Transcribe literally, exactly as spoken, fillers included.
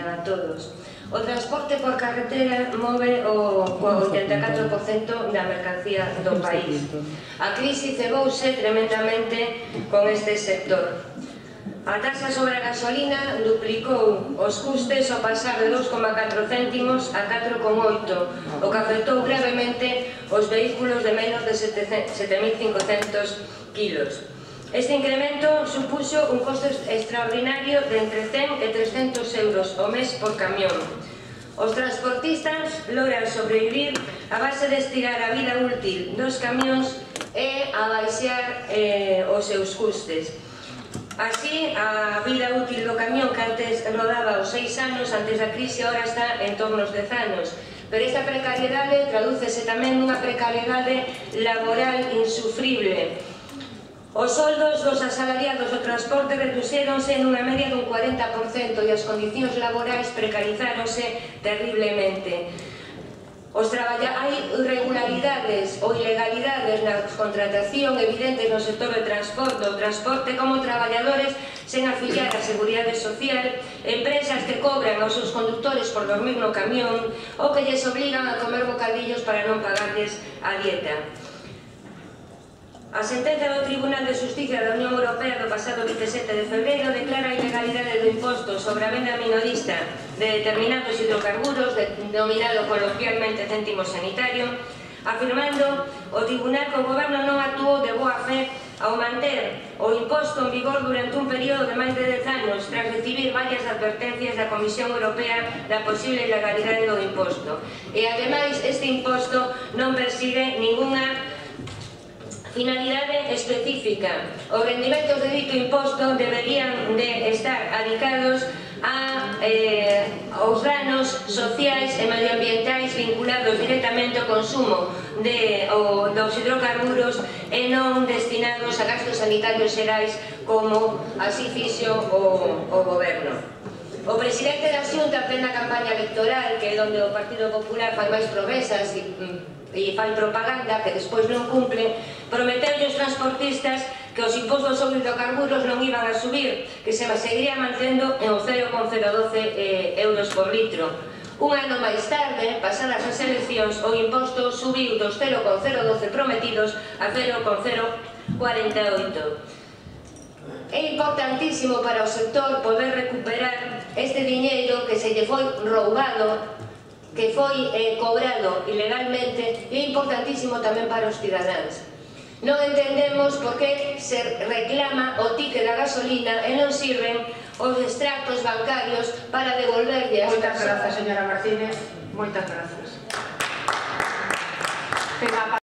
a todos. O transporte por carretera move o oitenta e catro por cento da mercancía do país. A crise cebouse tremendamente con este sector. A taxa sobre a gasolina duplicou os custes ao pasar de dous coma catro céntimos a catro coma oito, o que afectou gravemente os vehículos de menos de sete mil cincocentos kilos. Este incremento supuxo un costo extraordinario de entre cen e trescentos euros ao mes por camión. Os transportistas logran sobrevivir a base de estirar a vida útil dos camións e a baixar eh, os seus custes. Así, a vida útil do camión, que antes rodaba os seis anos antes da crise, agora está en torno aos dez anos. Pero esta precariedade tradúcese tamén nunha precariedade laboral insufrible. Os soldos dos asalariados do transporte reduxéronse nunha media dun cuarenta por cento e as condicións laborais precarizáronse terriblemente. Os traballa... Hai irregularidades ou ilegalidades na contratación evidentes no sector de transporte, o transporte como traballadores sen afiliar a Seguridade Social, empresas que cobran aos seus condutores por dormir no camión ou que lles obligan a comer bocadillos para non pagarles a dieta. A sentenza do Tribunal de Xustiza da Unión Europea do pasado vinte e sete de febreiro declara a ilegalidade do imposto sobre a venda minorista de determinados hidrocarburos, denominado coloquialmente céntimo sanitario, afirmando o Tribunal que o Goberno non actuou de boa fe ao manter o imposto en vigor durante un período de máis de dez anos tras recibir varias advertencias da Comisión Europea da posible ilegalidade do imposto. E, ademais, este imposto non persigue ninguna finalidade específica. Os rendimentos de dito imposto deberían de estar adicados a, eh, aos danos sociais e medioambientais vinculados directamente ao consumo de, o, dos hidrocarburos e non destinados a gastos sanitarios xerais como así fixo o, o Goberno. O presidente da Xunta, en plena campaña electoral, que é onde o Partido Popular fai máis promesas e e fai propaganda que despois non cumple, prometeulle aos transportistas que os impostos sobre hidrocarburos non iban a subir, que se seguiría mantendo en o cero coma cero doce euros por litro. Un ano máis tarde, pasadas as eleccións, o imposto subiu dos cero coma cero doce prometidos a cero coma cero cuarenta e oito. É importantísimo para o sector poder recuperar este diñeiro que se lle foi roubado, que foi eh, cobrado ilegalmente, e é importantísimo tamén para os cidadáns. Non entendemos por que se reclama o ticket da gasolina e non sirven os extractos bancarios para devolverlle as persoas. Moitas grazas, señora Martínez. Moitas grazas.